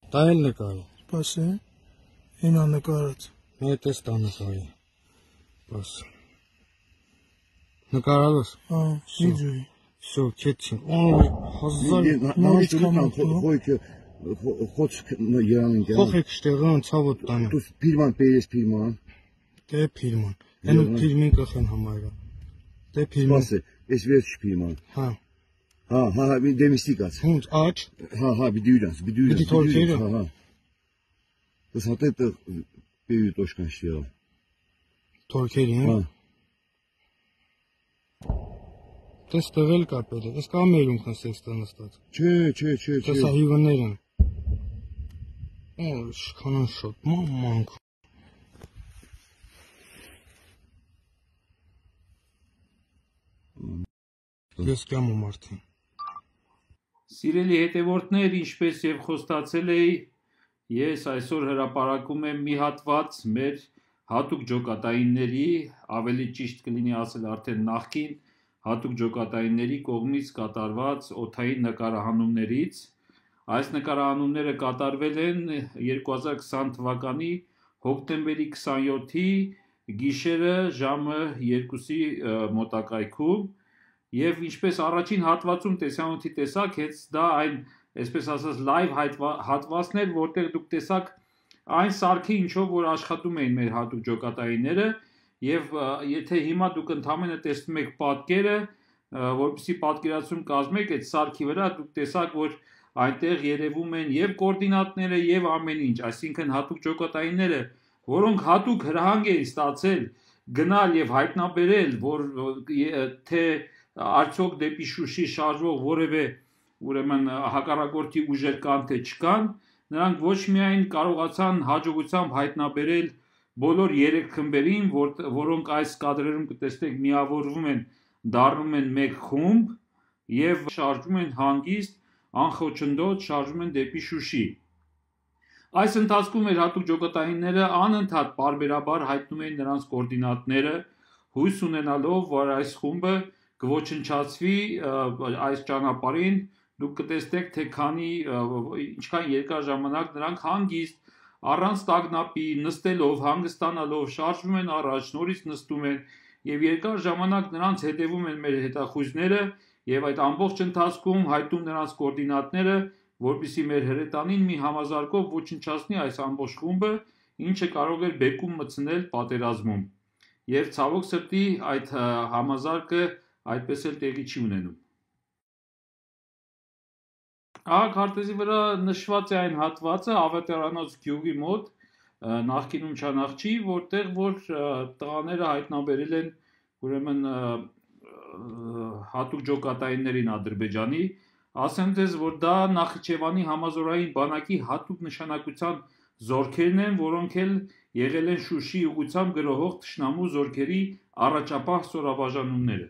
Դա էլ նկարի։ Սպասի, ինա նկարած։ Մետ էս տա նկարի։ Բաս։ Նկարալոս։ Վիդեոյի։ Всё, кетչին։ Օй, 1000 նորից կամոք։ Խոչ երանին կան։ Խոխ եք շտեղան ցավոտ տանը։ Դու ֆիլման պերես ֆիլման։ Դե ֆիլման։ Այն ֆիլմին կխեն համայրա։ Դե ֆիլման։ Սպասի, էս վերջ ֆիլման։ Հա։ Հա, դեմիստիկաց։ Հունց աչ։ Հա, բիդյուրանց։ թորքերը։ Հա։ Դասատե պեյու տոշկան շիա։ Թորքերի, հա։ Դες տղել կապել է, ես կա մերում խնսեքստա նստած։ Չէ։ Դեսա հիվներ են։ Շքանան շոտ, մանք։ Ես կյամ ու մարդին։ Սիրելի հետևորդներ, ինչպես և խոստացել էի, ես այսօր հրապարակում եմ մի հատված մեր հատուկ ջոկատայինների, ավելի ճիշտ կլինի ասել արդեն նախկին հատուկ ջոկատայինների կողմից կատարված օդային նկարահանումներից։ Այս նկարահանումները կատարվել են 2020 թվականի հոկտեմբերի 27-ի գիշերը ժամը 2-ի մոտակայքում եւ ինչպես առաջին հատվածում տեսանյութի տեսակ, հենց դա այն, այսպես ասած, լայվ հատվածն էր, որտեղ դուք տեսաք այն սարքի ինչով որ աշխատում էին մեր հատուկ ջոկատայինները եւ եթե հիմա դուք ընդհանրապես տեսնում եք պատկերը, որպեսզի պատկերացում կազմեք այդ սարքի վրա, դուք տեսաք, որ այնտեղ երևում են եւ կոորդինատները եւ ամեն ինչ, այսինքն հատուկ ջոկատայինները, որոնք հատուկ հրահանգ էին ստացել գնալ եւ հայտնաբերել, որ թե արդյոք դեպի Շուշի շարժվող որևէ ուրեմն հակառակորդի ուժեր կան թե չկան, նրանք ոչ միայն կարողացան հաջողությամբ հայտնաբերել բոլոր 3 խմբերին, որոնք այս կադրերում կտեսնեք միավորվում են, դառնում են մեկ խումբ եւ շարժվում են հանգիստ, անխոչնդոտ շարժվում են դեպի Շուշի։ Այս ընթացքում մեր հատուկ ջոկատայինները անընդհատ պարբերաբար հայտնում էին նրանց կոորդինատները, հույս ունենալով, որ այս խումբը կոչնչացվի այս ճանապարհին, դուք կտեսնեք, թե ինչքան երկար ժամանակ նրանք հանգիստ առանց տագնապի նստելով, հանգստանալով շարժվում են առաջ, նորից նստում են եւ երկար ժամանակ նրանց հետևում են մեր հետախույզները եւ այդ ամբողջ ընթացքում հայտնում նրանց կոորդինատները, որպեսզի մեր հրետանին մի համազարգով ոչնչացնի այս ամբողջ խումբը, ինչը կարող էր բեկում մտցնել պատերազմում։ Եվ ցավոք սրտի այդ համազարգը այդպես էլ տեղի չի ունենում։ Քարտեզի վրա նշված է այն հատվածը Ավետարանոց գյուղի մոտ, նախկինում Չանախչի, որտեղ որ տղաները հայտնաբերել են ուրեմն հատուկ ջոկատայիններին Ադրբեջանի, ասեմ ձեզ, որ դա Նախիջևանի համազորային բանակի հատուկ նշանակության զորքերն են, որոնք էլ եղել են Շուշի ուղղությամբ գրոհող թշնամու զորքերի առաջապահ ստորաբաժանումները։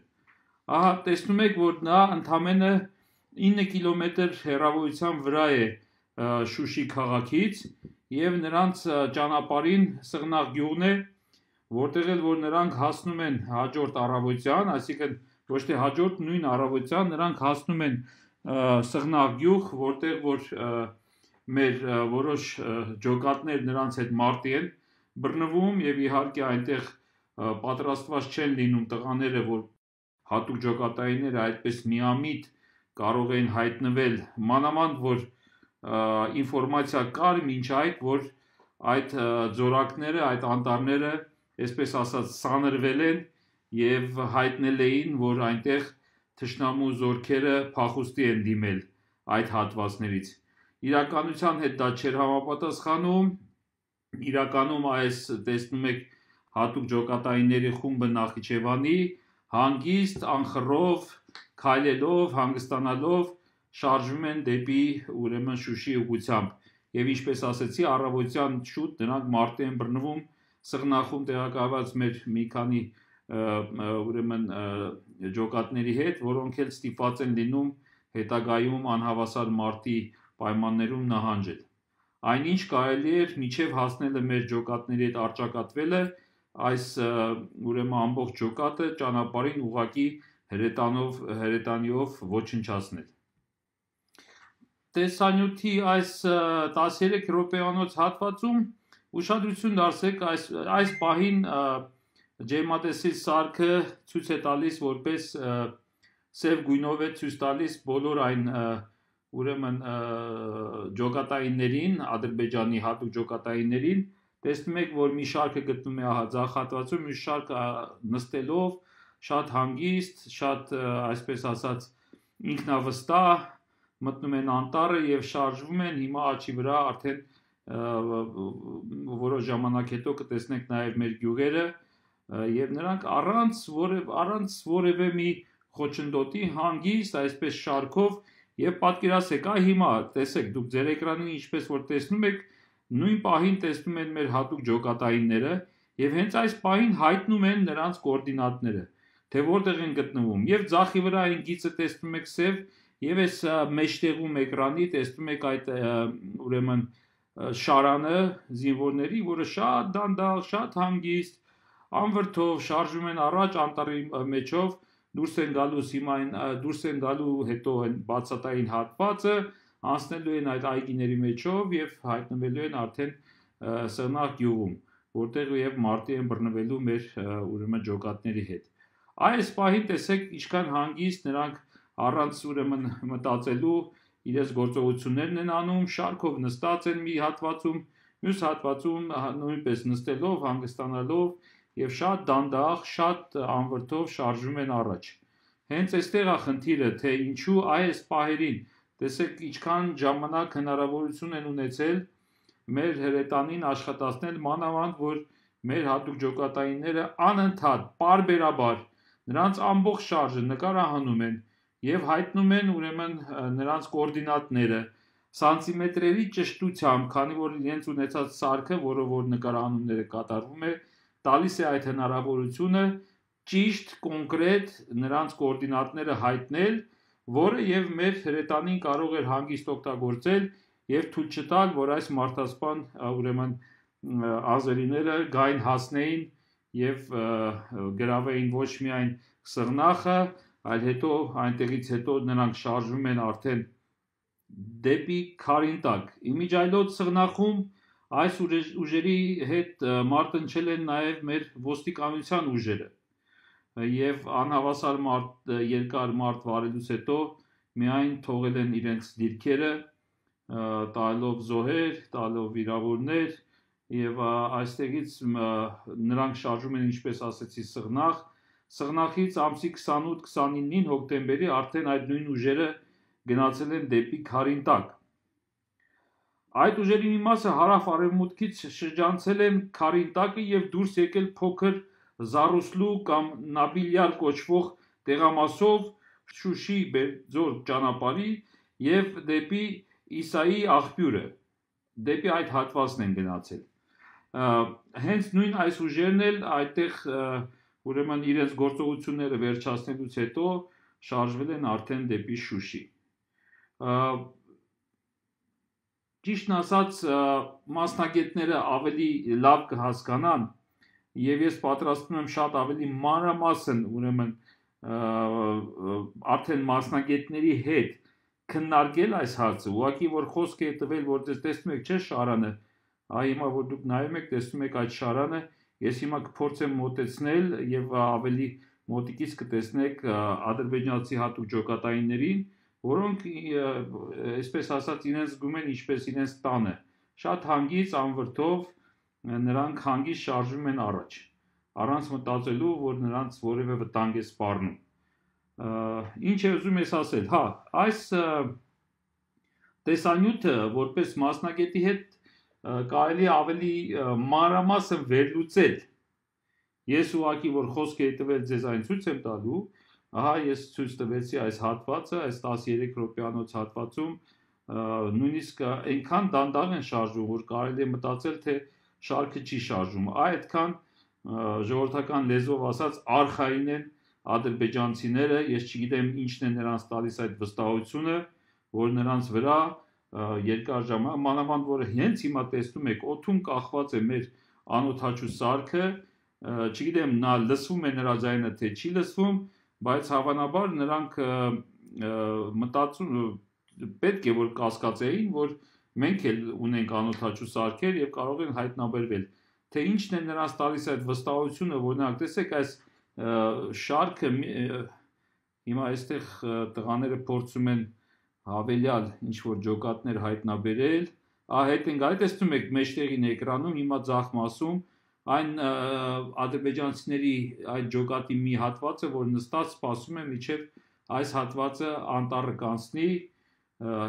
Ահա տեսնում եք, որ նա ընդամենը 9 կիլոմետր հեռավորության վրա է Շուշի քաղաքից եւ նրանց ճանապարհին Սղնաղ գյուղն է, որտեղ էլ որ նրանք հասնում են հաջորդ առավոտյան, այսինքն ոչ թե հաջորդ նույն առավոտյան նրանք հասնում են Սղնաղ գյուղ, որտեղ որ մեր որոշ ջոկատներ նրանց հետ մարտի են բռնվում եւ իհարկե այնտեղ պատրաստված չեն լինում տղաները, որ հատուկ ջոկատայինները այդպես միամիտ կարող են հայտնվել, մանավանդ որ ինֆորմացիա կար մինչ այդ, որ այդ ձորակները, այդ անտառները, այսպես ասած, սանրվել են եւ հայտնել էին, որ այնտեղ թշնամու զորքերը փախուստի են դիմել այդ հատվածներից։ Իրականության հետ դա չէր համապատասխանում, իրականում այս տեսնում եք հատուկ ջոկատայինների խումբը Նախիջևանի հանգիստ, անխռով, քայլելով, հանգստանալով շարժվում են դեպի ուրեմն Շուշի ուղղությամբ եւ ինչպես ասեցի, առավոտյան շուտ նրանք մարտի են բռնվում Սղնաղում տեղակայված մեր մի քանի ուրեմն ջոկատների հետ, որոնք էլ ստիպված են լինում հետագայում անհավասար մարտի պայմաններում նահանջել։ Այնինչ կարելի էր միջև հասնելը մեր ջոկատների հետ արճակատվելը այս ուրեմն ամբողջ ջոկատը ճանապարհին ուղակի հրետանիով ոչնչացնել։ տեսանյութի այս 13 րոպեանոց հատվածում ուշադրություն դարձեք այս պահին ջերմատեսիլ սարքը ցույց է տալիս որպես սև գույնով է ցույց տալիս բոլոր այն ուրեմն ջոկատայիններին, Ադրբեջանի հատուկ ջոկատայիններին, տեսնում եք, որ մի շարքը գտնում է ահա ձախ հատվածում, մի շարքը նստելով, շատ հանգիստ, շատ այսպես ասած ինքնավստահ մտնում են անտառը եւ շարժվում են, հիմա աչի վրա արդեն որոշ ժամանակ հետո կտեսնենք նաեւ մեր գյուղերը եւ նրանք առանց որևէ մի խոչընդոտի հանգիստ այսպես շարքով եւ պատկերացեք, հիմա տեսեք դուք ձեր էկրանին ինչպես որ տեսնում եք, նույն պահին տեսնում են մեր հատուկ ջոկատայինները եւ հենց այս պահին հայտնում են նրանց կոորդինատները, թե որտեղ են գտնվում եւ ձախի վրա այն գիծը տեսնում եք սև եւ այս մեջտեղում էկրանի տեսնում եք այդ ուրեմն շարանը զինվորների, որը շատ դանդաղ, շատ հանգիստ, անվրդով շարժվում են առաջ անտառի մեջով, դուրս են գալուց հիմա դուրս են գալու հետո այն բացատային հատվածը, անցնելու են այդ այգիների մեջով եւ հայտնվելու են արդեն Սղնաղ գյուղում, որտեղ եւ մարտի են բռնվելու մեր ուրեմն ջոկատների հետ։ Այս պահին տեսեք ինչքան հանգիստ նրանք առանց ուրեմն մտածելու իրենց գործողություններն են անում, շարքով նստած են մի հատվածում, մյուս հատվածում նույնպես նստելով, հանգստանալով եւ շատ դանդաղ, շատ անվրդով շարժվում են առաջ։ Հենց այստեղ է խնդիրը, թե ինչու այս պահերին, տեսեք ինչքան ժամանակ հնարավորություն են ունեցել մեր հրետանին աշխատացնել, մանավանդ որ մեր հատուկ ջոկատայինները անընդհատ, պարբերաբար նրանց ամբողջ շարժը նկարահանում են եւ հայտնում են ուրեմն նրանց կոորդինատները սանտիմետրերի ճշտությամբ, քանի որ իրենց ունեցած սարքը, որը որ նկարահանումները կատարվում է, տալիս է այդ հնարավորությունը ճիշտ, կոնկրետ նրանց կոորդինատները հայտնել, որը եւ մեր հրետանին կարող էր հանգիստ օգտագործել եւ թույլ չտալ, որ այս մարդասպան ուրեմն ազերիները գային հասնեին եւ գրավեին ոչ միայն Սղնաղը, այլ հետո այնտեղից հետո նրանք շարժվում են արդեն դեպի Քարինտակ։ Իմիջայլոց Սղնաղում այս ուժերի հետ մարտնչել են նաև մեր ոստիկանության ուժերը եւ անհավասար երկար մարտ վարելուց հետո միայն թողել են իրենց դիրքերը, տալով զոհեր, տալով վիրավորներ եւ այստեղից նրանք շարժում են, ինչպես ասեցի, Սղնաղ։ Սղնաղից ամսի 28-29-ին հոկտեմբերի արդեն այդ նույն ուժերը գնացել են դեպի Քարինտակ։ Այդ ուժերի մի մասը հարավ-արևմուտքից շրջանցել են Քարինտակը եւ դուրս եկել փոքր Զարուսլու կամ Նաբիլյար կոչվող տեղամասով Շուշի Բերձոր ճանապարհի եւ դեպի Իսայի աղբյուրը, դեպի այդ հատվածն են գնացել։ Հենց նույն այս ուժերն էլ այդտեղ ուրեմն իրենց գործողությունները վերջացնելուց հետո շարժվել են արդեն դեպի Շուշի։ Ճիշտն ասած, մասնագետները ավելի լավ կհասկանան եւ ես պատրաստվում եմ շատ ավելի մանրամասն ուրեմն արդեն մասնագետների հետ քննարկել այս հարցը, ուղղակի որ խոսք է տվել, որ տեսնում եք, չէ՞ շարանը, հիմա որ դուք նայում եք, տեսնում եք այդ շարանը, ես հիմա կփորձեմ մոտեցնել եւ ավելի մոտիկից կտեսնեք ադրբեջանցի հատուկ ջոկատայիններին, որոնք այսպես ասած իրենց զգում են ինչպես իրենց տանը, շատ հանգիստ անվրդով նրանք հանգիստ շարժվում են առաջ, առանց մտածելու, որ նրանց որևէ վտանգ է սպառնում։ Ինչ է ուզում ես ասել, այս տեսանյութը որպես մասնագետի հետ կարելի ավելի մանրամասն վերլուծել։ Ես ուղղակի որ խոսք է տվել ձեզ այն ցույց եմ տալու, ես ցույց տվեցի այս հատվածը, այս 13 րոպեանոց հատվածում նույնիսկ այնքան դանդաղ են շարժվում, որ կարելի է մտածել, թե շարքը չի շարժում, այդքան ժողովրդական լեզվով ասած արխային են ադրբեջանցիները, ես չգիտեմ ինչն է նրանց տալիս այդ վստահությունը, որ նրանց վրա երկար ժամանակ, մանավանդ որ հենց հիմա տեսնում եք, օդում կախված է մեր անօդաչու սարքը, չգիտեմ նա լսվում է նրա ձայնը թե չի լսվում, բայց հավանաբար նրանք մտածում պետք է որ կասկածեին, որ մենք էլ ունենք անօթաչու սարքեր եւ կարող են հայտնաբերվել, թե ինչն է նրանց տալիս այդ վստահությունը, օրինակ տեսեք այս շարքը հիմա այստեղ տղաները փորձում են հավելյալ ինչ որ ջոկատներ հայտնաբերել, հետ են գալի, տեսնում եք մեջտեղին էկրանում, հիմա ձախ մասում այն ադրբեջանցիների այդ ջոկատի մի հատվածը, որ նստած սպասում է մինչև այս հատվածը անտառը կանցնի,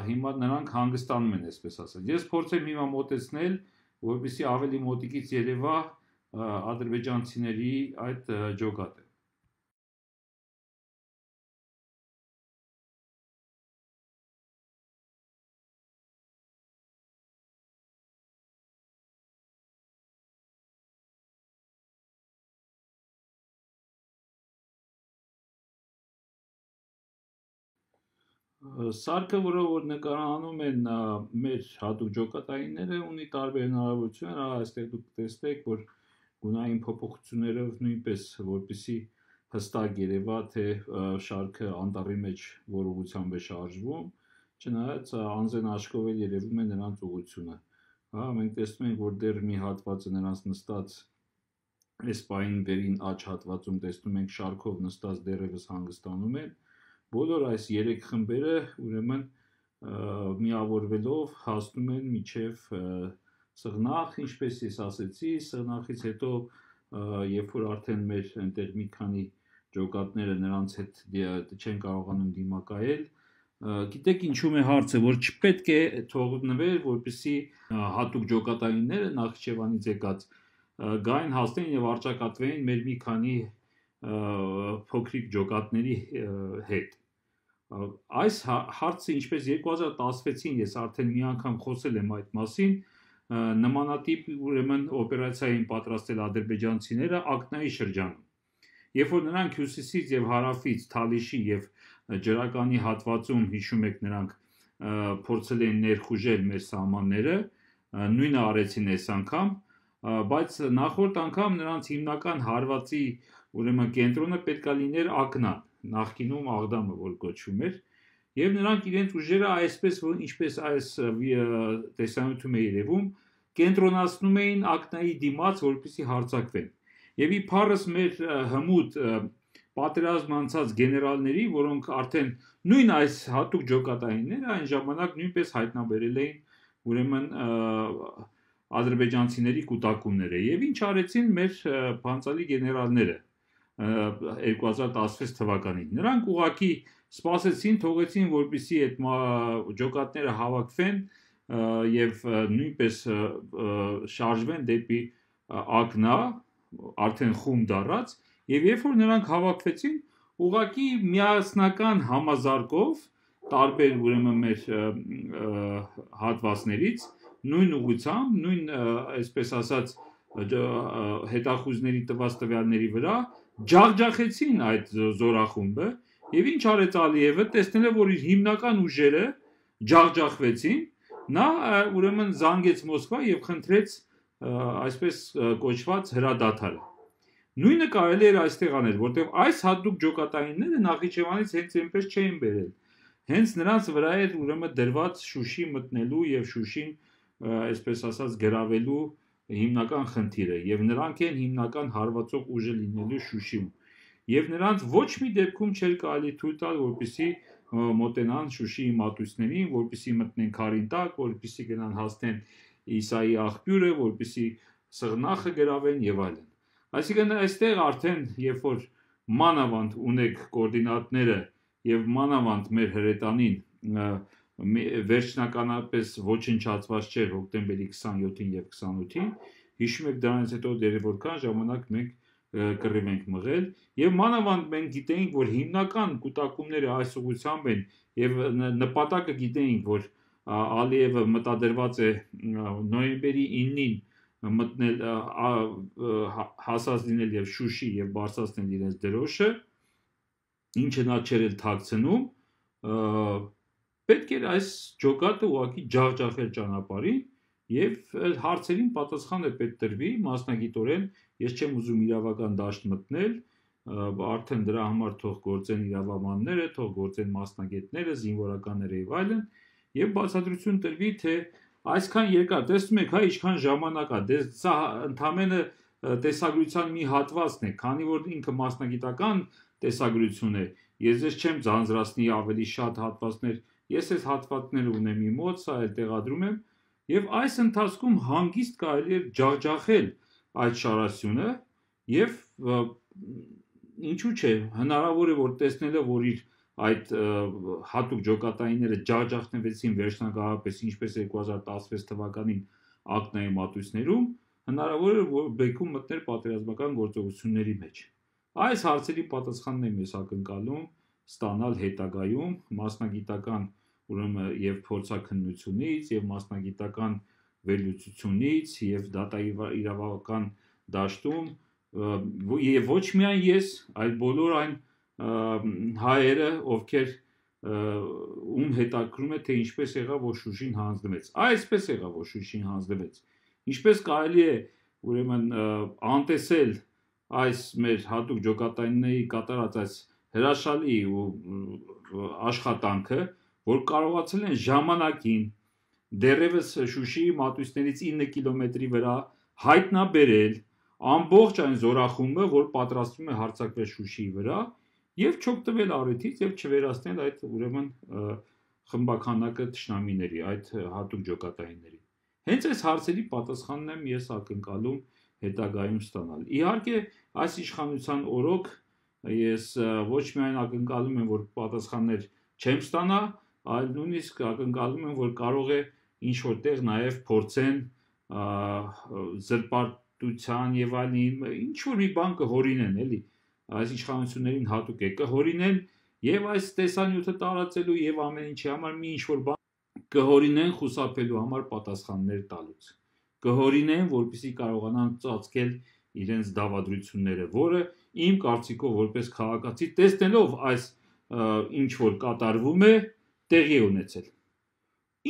հիմա նրանք հանգստանում են, այսպես ասած։ Ես փորձեմ հիմա մոտեցնել, որպեսզի ավելի մոտիկից երևա ադրբեջանցիների այդ ջոկատը։ Սարքը, որը որ նկարահանում են մեր հատուկ ջոկատայինները, ունի տարբեր հնարավորություններ, այստեղ դուք տեսնեք, որ գունային փոփոխություններով նույնպես որպեսզի հստակ երևա, թե շարքը անտառի մեջ որ ուղղությամբ է շարժվում, չնայած անձեն աչքով էլ երևում է նրանց ուղղությունը։ Մենք տեսնում ենք, որ դեռ մի հատվածը նրանց նստած այս պահին վերին աջ հատվածում տեսնում ենք շարքով նստած դեռևս հանգստանում են։ Բոլոր այս 3 խմբերը ուրեմն միավորվելով հասնում են մինչև սղնախ, ինչպես ես ասեցի, սղնախից հետո երբ որ արդեն մեր այնտեղ մի քանի ջոկատները նրանց հետ չեն կարողանում դիմակայել, գիտեք ինչու՞մ է հարցը, որ չպետք է թողնվել, որպեսզի հատուկ ջոկատայինները Նախիջևանից եկած գային հասնեն եւ արճակատվեին մեր մի քանի փոքրիկ ջոկատների հետ։ Այս հարցը ինչպես 2016-ին ես արդեն մի անգամ խոսել եմ այդ մասին, նմանատիպ ուրեմն օպերացիային պատրաստել ադրբեջանցիները Ակնայի շրջանում։ Երբ որ նրանք հյուսիսից եւ հարավից Թալիշի եւ ջրականի հատվածում հիշում եք նրանք փորձել են ներխուժել մեր սահմանները, նույնը արեցին այս անգամ, բայց նախորդ անգամ նրանց հիմնական հարվածի ուրեմն կենտրոնը պետքա լիներ Ակնան, նախկինում Աղդամը որ կոչվում էր, եւ նրանք իրենց ուժերը այսպես որ ինչպես այս տեսանյութում է երևում, կենտրոնացնում էին Ակնայի դիմաց, որպեսզի հարձակվեն։ Եվ իբարս մեր հմուտ պատերազմ անցած գեներալների, որոնք արդեն նույն այս հատուկ ջոկատայինները այն ժամանակ նույնպես հայտնաբերել էին ուրեմն ադրբեջանցիների կուտակումները եւ ինչ արեցին մեր փանցալի գեներալները 2016 թվականին։ Նրանք ուղղակի սպասեցին, թողեցին, որպեսզի այդ ջոկատները հավաքվեն եւ նույնպես շարժվեն դեպի Ակնա, արդեն խումբ դառած, եւ երբ որ նրանք հավաքվեցին, ուղղակի միասնական համազարգով տարբեր ուրեմն մեր հատվածներից նույն ուղղությամբ, նույն այսպես ասած հետախուզների տված տվյալների վրա ջախջախեցին այդ զորախումբը եւ ինչ արեց Ալիևը, տեսնելով որ իր հիմնական ուժերը ջախջախվեցին, նա ուրեմն զանգեց Մոսկվա եւ խնդրեց այսպես կոչված հրադադարը։ Նույնը կարելի էր այստեղ անել, որտեղ այս հատուկ ջոկատայինները Նախիջևանից հենց այնպես չէին բերել։ Հենց նրանց վրա էր ուրեմն դրված Շուշի մտնելու եւ Շուշին այսպես ասած գրավելու հիմնական խնդիրը եւ նրանք են հիմնական հարվածող ուժը լինելու Շուշիում եւ նրանց ոչ մի դեպքում չէր կարելի թույլ տալ որպեսզի մոտենան Շուշիի մատույցներին, որպեսզի մտնեն քարին տակ, որպեսզի գնան հասնեն Իսայի աղբյուրը, որպեսզի սղնախը գրավեն եւ այլն։ Այսինքն այստեղ արդեն երբ որ մանավանդ ունեք կոորդինատները եւ մանավանդ մեր հրետանին վերջնականապես ոչնչացված չէր հոկտեմբերի 27-ին եւ 28-ին, հիշում եք դրանից հետո դեռ որքան ժամանակ մենք կռիվ ենք մղել եւ մանավանդ մենք գիտեինք, որ հիմնական կուտակումները այս ուղղությամբ են եւ նպատակը գիտեինք, որ Ալիևը մտադրված է նոյեմբերի 9-ին մտնել հասած լինել եւ Շուշի եւ բարձրացնել իրենց դրոշը, ինչը նա չէր էլ թաքցնում, պետք էր այս ջոկատը ուղղակի ջախջախել ճանապարհին եւ հարցերին պատասխանը պետք տրվի մասնագիտորեն, ես չեմ ուզում իրավական դաշտ մտնել, արդեն դրա համար թող գործեն իրավաբանները, թող գործեն մասնագետները, զինվորականները եւ այլն, եւ բացատրություն տրվի, թե այսքան երկար, տեսնում եք, հա, ինչքան ժամանակ է, սա ընդամենը տեսագրության մի հատվածն է, քանի որ ինքը մասնագիտական տեսագրություն է, ես չեմ ձանձրացնի ավելի շատ հատվածներ, ես այս հատվածները ունեմ իմ մոտ, սա էլ տեղադրում եմ, եւ այս ընթացքում հանգիստ կարելի է ջախջախել այդ շարասյունը եւ ինչու՞ չէ, հնարավոր է որ տեսնելով որ իր այդ հատուկ ջոկատայինները ջախջախնվեցին վերջնականապես ինչպես 2016 թվականին ակնայի մատույցներում, հնարավոր է որ բեկում մտներ պատերազմական գործողությունների մեջ։ Այս հարցերի պատասխանն եմ ես ակնկալում ստանալ հետագայում մասնագիտական ուրեմն եւ փորձաքննությունից եւ մասնագիտական վերլուծությունից եւ դատաիրավական դաշտում եւ ոչ միայն ես, այլ բոլոր այն հայերը, ովքեր ում հետաքրում է թե ինչպես եղավ որ Շուշին հանձնվեց։ Այսպես եղավ որ Շուշին հանձնվեց։ Ինչպես կարելի է ուրեմն անտեսել այս մեր հատուկ ջոկատայինների կատարած այս հրաշալի ու աշխատանքը, որ կարողացել են ժամանակին դեռևս Շուշիի մատույցներից 9 կիլոմետրի վրա հայտնաբերել ամբողջ այն զորախումբը, որ պատրաստվում է հարձակվել Շուշիի վրա եւ չօգտվել առիթից եւ չվերացնել այդ ուրեմն խմբականակը թշնամիների, այդ հատուկ ջոկատայինների։ Հենց այս հարցերի պատասխանն եմ ես ակնկալում հետագայում ստանալ։ Իհարկե, այս իշխանության օրոք ես ոչ միայն ակնկալում եմ, որ պատասխաններ չեմ ստանա, այլ նույնիսկ ակնկալում եմ, որ կարող է ինչ որտեղ նաև փորձեն զրպարտության եւ այլն ինչ որ մի բան կհորինեն, էլի, այս իշխանություններին հատուկ է կհորինեն եւ այս տեսանյութը տարածելու եւ ամեն ինչի համար մի ինչ որ բան կհորինեն խուսափելու համար պատասխաններ տալուց։ Կհորինեն, որպեսզի կարողանան ծածկել իրենց դավադրությունները, որը իմ կարծիքով որպես քաղաքացի տեսնելով այս ինչ որ կատարվում է, տեղի է ունեցել։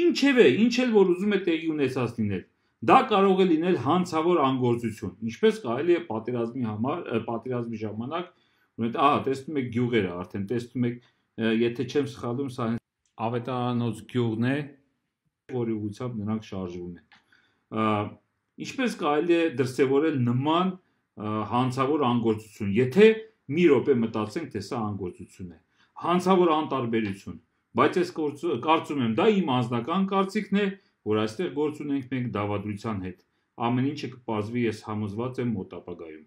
Ինչևէ, ինչ էլ որ ուզում է տեղի ունեցած լինել, դա կարող է լինել հանցավոր անգործություն, ինչպես կարելի է պատերազմի ժամանակ, տեսնում եք գյուղերը, արդեն տեսնում եք, եթե չեմ սխալվում, սա Ավետարանոց գյուղն է, որի ուղղությամբ նրանք շարժվում են։ Ինչպես կարելի է դրսևորել նման հանցավոր անգործություն, եթե մի րոպե մտածենք, թե սա անգործություն է, հանցավոր անտարբերություն, բայց ես կարծում եմ, դա իմ անձնական կարծիքն է, որ այստեղ գործ ունենք մենք դավադրության հետ, ամեն ինչը կպարզվի ես համոզված եմ մոտ ապագայում։